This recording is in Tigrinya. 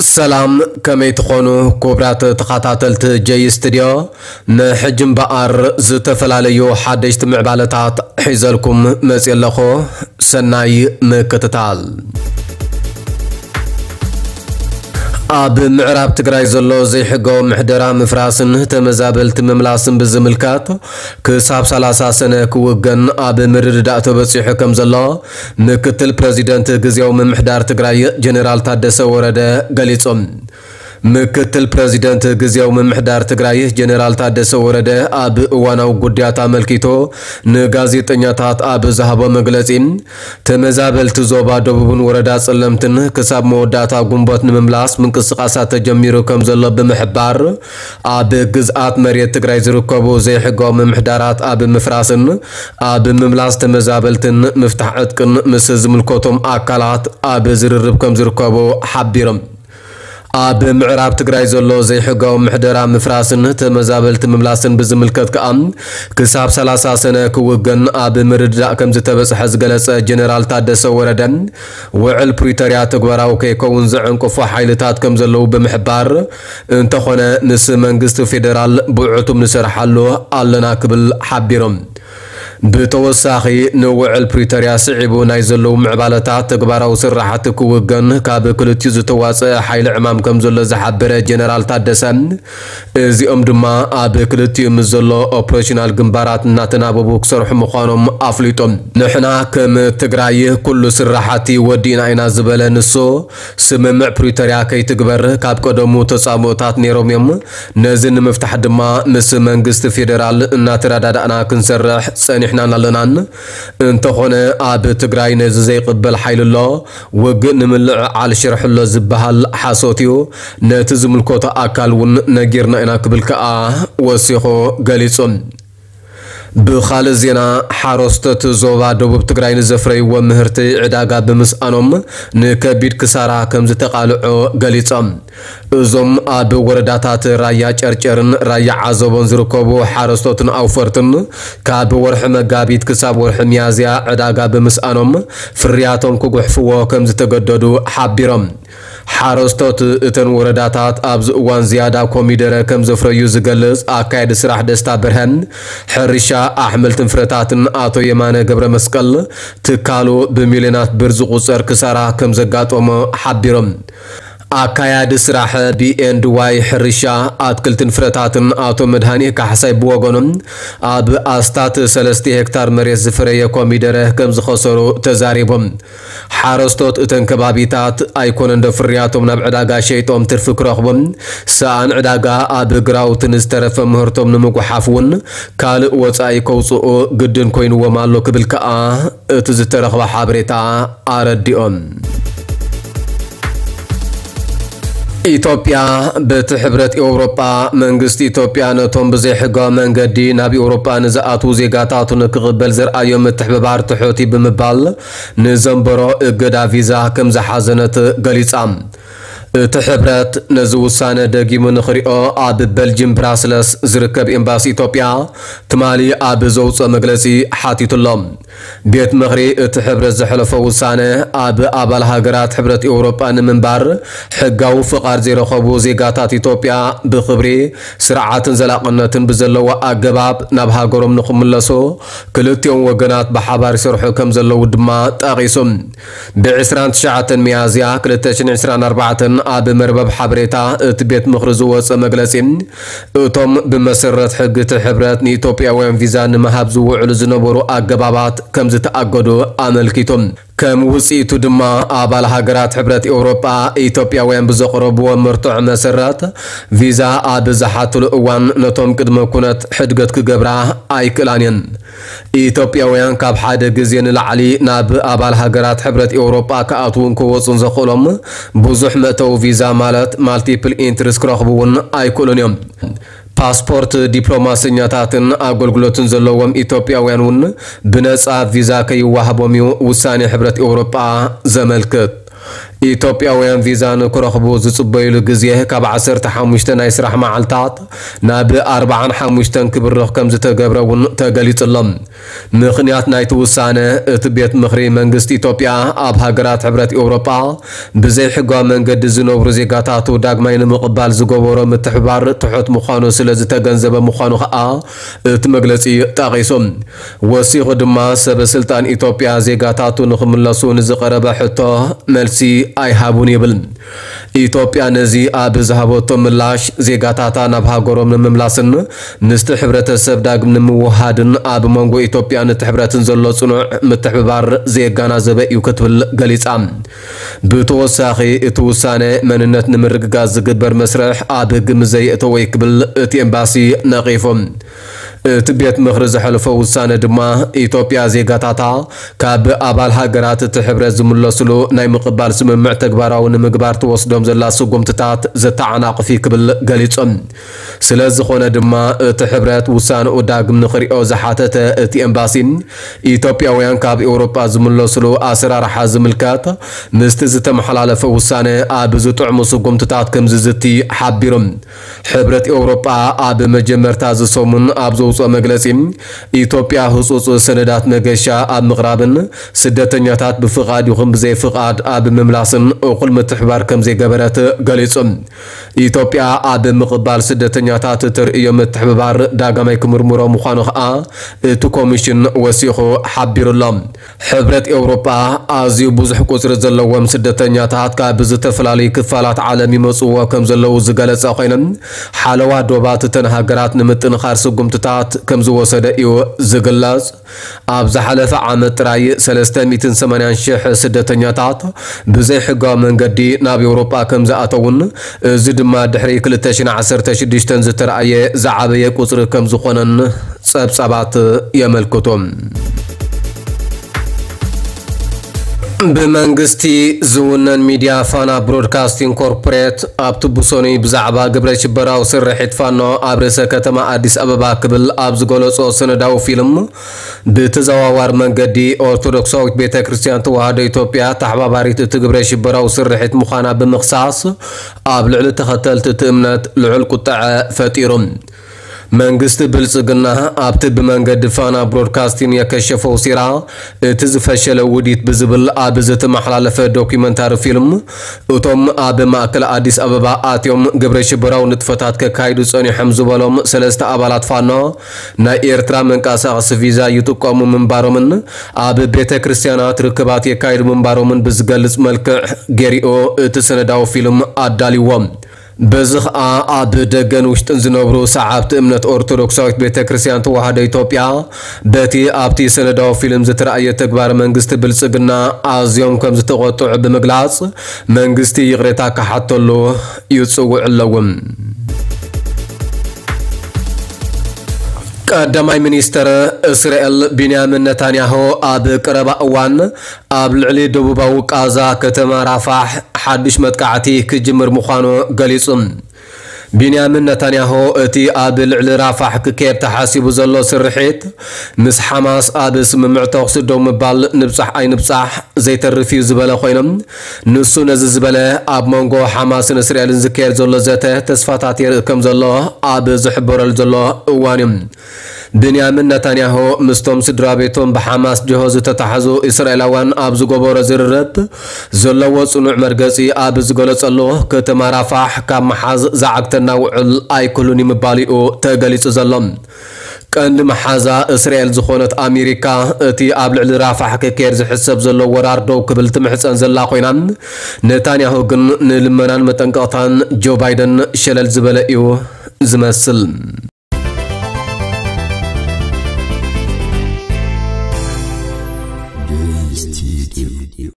ሰላም፣ ከመይ ትኾኑ ክቡራት ተኸታተልቲ ጀይ ስቱድዮ? ንሕጂ እምበኣር ዝተፈላለዩ ሓደሽቲ ምዕባለታት ሒዘልኩም መፅየ ኣለኹ። ሰናይ ምክትታል። ኣብ ምዕራብ ትግራይ ዘሎ ዘይሕጋዊ ምሕደራ ምፍራስን ተመዛበልቲ ምምላስን ብዝምልከት ክሳብ ሰላሳ ሰነ ክውገን ኣብ ምርድዳእ ተበፂሑ ከም ዘሎ ምክትል ፕረዚደንት ግዝያዊ ምምሕዳር ትግራይ ጀነራል ታደሰ ወረደ ገሊጹ። ምክትል ፕረዚደንት ግዝያዊ ምምሕዳር ትግራይ ጀነራል ታደሰ ወረደ ኣብ እዋናዊ ጉዳያት ኣመልኪቱ ንጋዜጠኛታት ኣብ ዝሃቦ መግለጺ፣ ተመዛበልቲ ዞባ ደቡብን ወረዳ ጸለምትን ክሳብ መወዳእታ ግንቦት ንምምላስ ምንቅስቃሳት ተጀሚሩ ከም ዘሎ ብምሕባር፣ ኣብ ግዝኣት መሬት ትግራይ ዝርከቡ ዘይሕጋዊ ምምሕዳራት ኣብ ምፍራስን ኣብ ምምላስ ተመዛበልትን ምፍታሕ ዕጥቅን ምስ ዝምልከቶም ኣካላት ኣብ ዝርርብ ከም ዝርከቡ ሓቢሮም። ኣብ ምዕራብ ትግራይ ዘሎ ዘይሕጋዊ ምሕደራ ምፍራስን ተመዛበልቲ ምምላስን ብዝምልከት ከኣ ክሳብ ሰላሳ ሰነ ክውገን ኣብ ምርድዳእ ከም ዝተበጽሐ ዝገለጸ ጀነራል ታደሰ ወረደ፣ ውዕል ፕሪቶርያ ተግባራዊ ከይከውን ዘዕንቅፉ ሓይልታት ከም ዘለዉ ብምሕባር፣ እንተኾነ ምስ መንግስቲ ፌደራል ብዕቱብ ንሰርሓሉ ኣለና ክብል ሓቢሮም። ብተወሳኺ ንውዕል ፕሪቶርያ ስዒቡ ናይ ዘለዉ ምዕባለታት ተግባራዊ ስራሕቲ ክውገን ካብ ክልቲኡ ዝተዋፀአ ሓይሊ ዕማም ከም ዘሎ ዝሓበረ ጀነራል ታደሰ፣ እዚኦም ድማ ኣብ ክልቲኡ ምስ ዘሎ ኦፕሬሽናል ግንባራት እናተናበቡ ክሰርሑ ምዃኖም ኣፍሊጦም። ንሕና ከም ትግራይ ኩሉ ስራሕቲ ወዲእና ኢና ዝበለ ንሱ፣ ስምምዕ ፕሪቶርያ ከይትግበር ካብ ቀደሙ ተጻብኦታት ነይሮም እዮም። ነዚ ንምፍታሕ ድማ ምስ መንግስቲ ፌደራል እናተረዳዳእና ክንሰርሕ ጸኒሕናን ኣለናን። እንተኾነ ኣብ ትግራይ ነዚ ዘይቅበል ሓይሊ ኣሎ። ውግእ ንምልዕዓል ሽርሒ ኣሎ ዝበሃል ሓሶት እዩ። ነቲ ዝምልከቶ ኣካል እውን ነጊርና ኢና ክብል ከኣ ወሲኹ ገሊጹ። ብኻልእ ዜና፣ ሓረስቶት ዞባ ደቡብ ትግራይ ንዘፍረይዎ ምህርቲ ዕዳጋ ብምስኣኖም ንከቢድ ክሳራ ከም ዝተቓልዑ ገሊጾም። እዞም ኣብ ወረዳታት ራያ ጨርጨርን ራያ ዓዘቦን ዝርከቡ ሓረስቶትን ኣውፈርትን ካብ ወርሒ መጋቢት ክሳብ ወርሒ ሚያዝያ ዕዳጋ ብምስኣኖም ፍርያቶም ክጉሕፍዎ ከም ዝተገደዱ ሓቢሮም። ሓረስቶት እተን ወረዳታት ኣብዚ እዋን ዝያዳ ኮሚደረ ከም ዘፍረዩ ዝገልጽ ኣካያዲ ስራሕ ደስታ ብርሀን፣ ሕርሻ ኣሕምልትን ፍረታትን ኣቶ የማነ ገብረ መስቀል፣ ትካሉ ብሚልዮናት ብር ዝቑጸር ክሳራ ከም ዘጋጠሞ ሓቢሮም። ኣካያዲ ስራሕ ቢ ኤንድ ዋይ ሕርሻ ኣትክልትን ፍረታትን ኣቶ መድሃኔ ካሕሳይ ብወገኖም፣ ኣብ ኣስታት ሰለስተ ሄክታር መሬት ዝፈረየ ኮሚደረ ከም ዝኸሰሩ ተዛሪቦም። ሓረስቶት እተን ከባቢታት ኣይኮነን ዶ ፍርያቶም ናብ ዕዳጋ ሸይጦም ትርፊ ክረኽቡን፣ ሰኣን ዕዳጋ ኣብ ግራውትን ዝተረፈ ምህርቶም ንምጉሓፍ እውን ካልእ ወጻኢ ከውጽኡ ግድን ኮይንዎም ኣሎ ክብል ከኣ እቲ ዝተረኽበ ሓበሬታ ኣረዲኦም። ኢትዮጵያ፣ በቲ ሕብረት ኤውሮጳ፣ መንግስቲ ኢትዮጵያ ነቶም ብዘይሕጋዊ መንገዲ ናብ ኤውሮጳ ንዝኣትዉ ዜጋታቱ ንክቕበል ዘርኣዮ ምትሕብባር ትሑት እዩ ብምባል ንዘንበሮ እገዳ ቪዛ ከም ዝሓዘነት ገሊጻ። እቲ ሕብረት ነዚ ውሳነ ደጊሙ ንኽሪኦ ኣብ በልጅም ብራስለስ ዝርከብ ኤምባሲ ኢትዮጵያ ትማሊ ኣብ ዘውፅኦ መግለፂ ሓቲቱ ኣሎ። ቤት ምኽሪ እቲ ሕብረት ዘሕለፎ ውሳነ፣ ኣብ ኣባል ሃገራት ሕብረት ኤውሮጳ ንምንባር ሕጋዊ ፍቓድ ዘይረኸቡ ዜጋታት ኢትዮጵያ ብኽብሪ፣ ስርዓትን ዘላቕነትን ብዘለዎ ኣገባብ ናብ ሃገሮም ንኽምለሱ ክልቲኦም ወገናት ብሓባር ይሰርሑ ከም ዘለዉ ድማ ጠቒሱ። ብ ዕስራን ትሽዓተን ሚያዝያ ክልተ ሽሕን ዕስራን ኣርባዕተን ኣብ መርበብ ሓበሬታ እቲ ቤት ምኽሪ ዝወጸ መግለጺ፣ እቶም ብመሰረት ሕጊ እቲ ሕብረት ንኢትዮጵያውያን ቪዛ ንምሃብ ዝውዕሉ ዝነበሩ ኣገባባት ከም ዝተኣገዱ ኣመልኪቱ። ከም ውጽኢቱ ድማ፣ ኣባል ሃገራት ሕብረት ኤውሮጳ ኢትዮጵያውያን ብዘቕረብዎ መርትዖ መሰረት ቪዛ ኣብ ዝሓትሉ እዋን ነቶም ቅድመ ኩነት ሕድገት ክገብራ ኣይክእላን እየን። ኢትዮጵያውያን ካብ ሓደ ግዜ ንላዕሊ ናብ ኣባል ሃገራት ሕብረት ኤውሮጳ ክኣትዉን ክወጹን ዘኽእሎም ብዙሕ መእተዊ ቪዛ ማለት ማልቲፕል ኢንትሪስ ክረኽቡ እውን ኣይክእሉን እዮም። ፓስፖርት፣ ዲፕሎማሰኛታትን ኣገልግሎትን ዘለዎም ኢትዮጵያውያን እውን ብነጻ ቪዛ ከይወሃቦም እዩ ውሳኔ ሕብረት ኤውሮጳ ዘመልክት። ኢትዮጵያውያን ቪዛ ንክረኽቡ ዝጽበዩሉ ግዜ ካብ ዓሰርተ ሓሙሽተ ናይ ስራሕ መዓልታት ናብ ኣርባዓን ሓሙሽተን ክብርኽ ከም ዝተገብረ እውን ተገሊጹ ኣሎ። ምኽንያት ናይቲ ውሳነ፣ እቲ ቤት ምኽሪ መንግስቲ ኢትዮጵያ ኣብ ሃገራት ሕብረት ኤውሮጳ ብዘይሕጋዊ መንገዲ ዝነብሩ ዜጋታቱ ዳግማይ ንምቕባል ዝገበሮ ምትሕብባር ትሑት ምዃኑ ስለ ዝተገንዘበ ምዃኑ ከኣ እቲ መግለጺ ጠቒሱ። ወሲኹ ድማ፣ ሰበ ስልጣን ኢትዮጵያ ዜጋታቱ ንኽምለሱ ንዝቐረበ ሕቶ መልሲ ኣይሃቡን ይብል። ኢትዮጵያ ነዚ ኣብ ዝሃበቶ ምላሽ፣ ዜጋታታ ናብ ሃገሮም ንምምላስን ምስቲ ሕብረተሰብ ዳግም ንምውሃድን ኣብ መንጎ ኢትዮጵያን እቲ ሕብረትን ዘሎ ጽኑዕ ምትሕብባር ዘየጋናዘበ እዩ ክትብል ገሊጻ። ብተወሳኺ፣ እቲ ውሳነ መንነት ንምርግጋጽ ዝግበር መስርሕ ኣብ ህጊ ምዘየእተወ እዩ ክብል እቲ ኤምባሲ ነቒፉ። እቲ ቤት ምኽሪ ዘሕለፎ ውሳነ ድማ፣ ኢትዮጵያ ዜጋታታ ካብ ኣባል ሃገራት እቲ ሕብረት ዝምለስሉ ናይ ምቕባል ስምምዕ ተግባራዊ ንምግባር ትወስዶም ዘላ ስጉምትታት ዘተዓናቕፍ እዩ ክብል ገሊጹ። ስለ ዝኾነ ድማ፣ እቲ ሕብረት ውሳነኡ ዳግም ንኽሪኦ ዝሓተተ እቲ ኤምባሲ፣ ኢትዮጵያውያን ካብ ኤውሮጳ ዝምለስሉ ኣሰራርሓ ዝምልከት ምስቲ ዝተመሓላለፈ ውሳነ ኣብ ዝጥዕሙ ስጉምትታት ከም ዝዝቲ ሓቢሩ። ሕብረት ኤውሮጳ ኣብ መጀመርታ እዚ ሰሙን ኣብ ዘውፅኦ መግለጺ፣ ኢትዮጵያ ህጹጽ ሰነዳት መገሻ ኣብ ምቕራብን ስደተኛታት ብፍቓድ ይኹን ብዘይፍቓድ ኣብ ምምላስን እኹል ምትሕባር ከም ዘይገበረት ገሊጹ። ኢትዮጵያ ኣብ ምቕባል ስደተኛታት እተርእዮ ምትሕብባር ዳግማይ ክምርምሮ ምዃኑ ከኣ እቲ ኮሚሽን ወሲኹ ሓቢሩ ኣሎ። ሕብረት ኤውሮጳ ኣዝዩ ብዙሕ ቁጽሪ ዘለዎም ስደተኛታት ካብ ዝተፈላለዩ ክፋላት ዓለም ይመጽዎ ከም ዘለዉ ዝገለጸ ኮይኖም፣ ሓለዋ ዶባት እተን ሃገራት ንምጥንኻር ስጉምትታት ከም ዝወሰደ እዩ ዝግለጽ። ኣብ ዝሓለፈ ዓመት ጥራይ ሰለስተ ሚእትን ሰማንያን ሽሕ ስደተኛታት ብዘይሕጋዊ መንገዲ ናብ ኤውሮጳ ከም ዝኣተውን፣ እዚ ድማ ድሕሪ ክልተ ሽሕን ዓሰርተ ሽዱሽተን ዝተረኣየ ዝዓበየ ቁጽሪ ከም ዝኾነን ጸብጻባት የመልክቱ። ብመንግስቲ ዝውነን ሚድያ ፋና ብሮድካስቲንግ ኮርፖሬት ኣብቲ ብሰኑይ ብዛዕባ ግብረ ሽበራዊ ስርሒት ፋኖ ኣብ ርእሰ ከተማ ኣዲስ ኣበባ ክብል ኣብ ዝገለጾ ሰነዳዊ ፊልም፣ ብተዘዋዋሪ መንገዲ ኦርቶዶክሳዊት ቤተ ክርስቲያን ተዋህዶ ኢትዮጵያ ተሓባባሪት እቲ ግብረ ሽበራዊ ስርሒት ምዃና ብምኽሳስ፣ ኣብ ልዕሊ ተኸተልቲ እቲ እምነት ልዑል ቁጠዐ ፈጢሩ። መንግስቲ ብልጽግና ኣብቲ ብመንገዲ ፋና ብሮድካስቲን የከሸፈው ሴራ እቲ ዝፈሸለ ውዲት ብዝብል ኣብ ዝተመሓላለፈ ዶኩመንታሪ ፊልም፣ እቶም ኣብ ማእከል ኣዲስ ኣበባ ኣትዮም ግብረ ሽበራዊ ንጥፈታት ከካይዱ ጸኒሖም ዝበሎም ሰለስተ ኣባላት ፋኖ ናይ ኤርትራ መንቀሳቐሲ ቪዛ ይጥቀሙ ምንባሮምን ኣብ ቤተ ክርስቲያናት ርክባት የካይዱ ምንባሮምን ብዝገልጽ መልክዕ ገሪኦ እቲ ሰነዳዊ ፊልም ኣዳልይዎ። በዚ ኸኣ ኣብ ደገን ውሽጥን ዝነብሩ ሰዓብቲ እምነት ኦርቶዶክሳዊት ቤተ ክርስቲያን ተዋህዶ ኢትዮጵያ በቲ ኣብቲ ሰነዳዊ ፊልም ዝተራእየ ተግባር መንግስቲ ብልጽግና ኣዝዮም ከም ዝተቖጥዑ ብምግላጽ መንግስቲ ይቕሬታ ክሓተሉ ይጽውዑ ኣለዉ። ቀዳማይ ሚኒስተር እስራኤል ቢንያሚን ነታንያሁ ኣብ ቀረባ እዋን ኣብ ልዕሊ ደቡባዊ ቃዛ ከተማ ራፋሕ ሓድሽ መጥቃዕቲ ክጅምር ምዃኑ ገሊጹ። ቢንያሚን ነታንያሁ እቲ ኣብ ልዕሊ ራፋሕ ክካየድ ተሓሲቡ ዘሎ ስርሒት ምስ ሓማስ ኣብ ስምምዕ ተኹሲ ደው ምባል ንብጻሕ ኣይንብጻሕ ዘይተርፍ እዩ ዝበለ ኮይኖም፣ ንሱ ነዚ ዝበለ ኣብ መንጎ ሓማስን እስራኤልን ዝካየድ ዘሎ ዘተ ተስፋታት የርኢ ከም ዘሎ ኣብ ዝሕበረሉ ዘሎ እዋን እዩ። ብንያሚን ነታንያሁ ምስቶም ስድራ ቤቶም ብሓማስ ጅሆ ዝተታሕዙ እስራኤላውያን ኣብ ዝገበሮ ዝርርብ ዘለዎ ጽኑዕ መርገጺ ኣብ ዝገለጸሉ፣ ከተማ ራፋሕ ካብ መሓዝ ዝዓግተና ውዕል ኣይክህሉን እዩ ምባሉ እዩ ተገሊጹ ዘሎ። ቀንዲ መሓዛ እስራኤል ዝኾነት ኣሜሪካ እቲ ኣብ ልዕሊ ራፋሕ ክካየድ ዝሕሰብ ዘሎ ወራር ደው ክብል ትምሕጸን ዘላ ኮይና፣ ነታንያሁ ግን ንልመናን መጠንቀቕታን ጆ ባይደን ሸለል ዝበለ እዩ ዝመስል።